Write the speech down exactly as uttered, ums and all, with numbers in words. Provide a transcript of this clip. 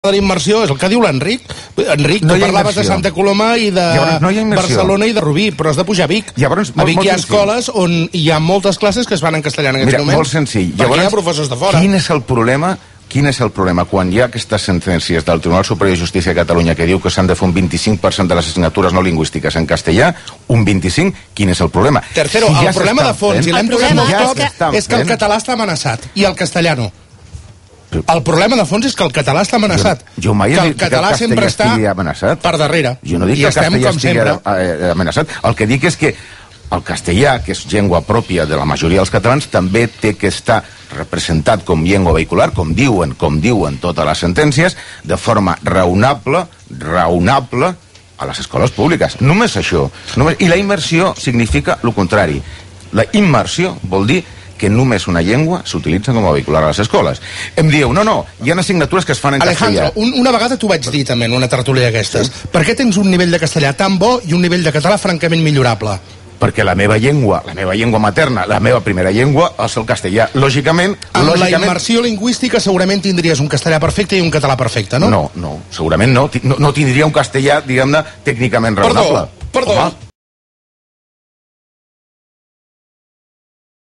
de la immersió és el que diu l'Enric. Enric, tu parlaves de Santa Coloma i de Barcelona i de Rubí, però has de pujar a Vic. A Vic hi ha escoles on hi ha moltes classes que es fan en castellà en aquests moments. Mira, molt senzill. Perquè hi ha professors de fora. Quin és el problema? Quin és el problema? Quan hi ha aquestes sentències del Tribunal Superior de Justícia de Catalunya que diu que s'han de fer un vint-i-cinc per cent de les assignatures no lingüístiques en castellà, un vint-i-cinc, quin és el problema? Tercero, el problema de fons, i l'hem tocat molt cop, és que el català està amenaçat i el castellà no. El problema de fons és que el català està amenaçat. Jo mai he dit que el català sempre està per darrere. Jo no dic que el castellà estigui amenaçat. El que dic és que el castellà, que és llengua pròpia de la majoria dels catalans, també té que estar representat com llengua vehicular, com diuen, com diuen totes les sentències, de forma raonable, raonable, a les escoles públiques. Només això. I la immersió significa el contrari. La immersió vol dir que només una llengua s'utilitza com a vehicular a les escoles. Em dieu, no, no, hi ha assignatures que es fan en castellà. Alejandro, una vegada t'ho vaig dir també en una tertúlia d'aquestes. Per què tens un nivell de castellà tan bo i un nivell de català francament millorable? Perquè la meva llengua, la meva llengua materna, la meva primera llengua és el castellà. Lògicament... Amb la immersió lingüística segurament tindries un castellà perfecte i un català perfecte, no? No, no, segurament no. No tindria un castellà, diguem-ne, tècnicament raonable. Perdó, perdó.